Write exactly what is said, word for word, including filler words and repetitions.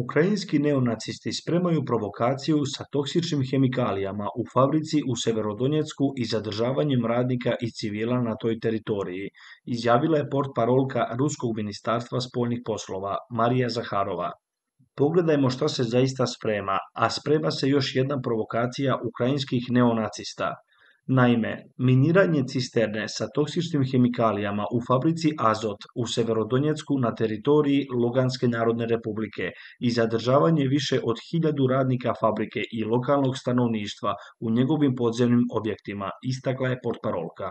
Ukrajinski neonacisti spremaju provokaciju sa toksičnim hemikalijama u fabrici u Severodonjecku i zadržavanjem radnika i civila na toj teritoriji, izjavila je portparolka Ruskog ministarstva spoljnih poslova Marija Zaharova. Pogledajmo šta se zaista sprema, a sprema se još jedna provokacija ukrajinskih neonacista. Naime, miniranje cisterne sa toksičnim hemikalijama u fabrici Azot u Severodonjecku na teritoriji Luganske narodne republike i zadržavanje više od hiljadu radnika fabrike i lokalnog stanovništva u njegovim podzemnim objektima, istakla je portparolka.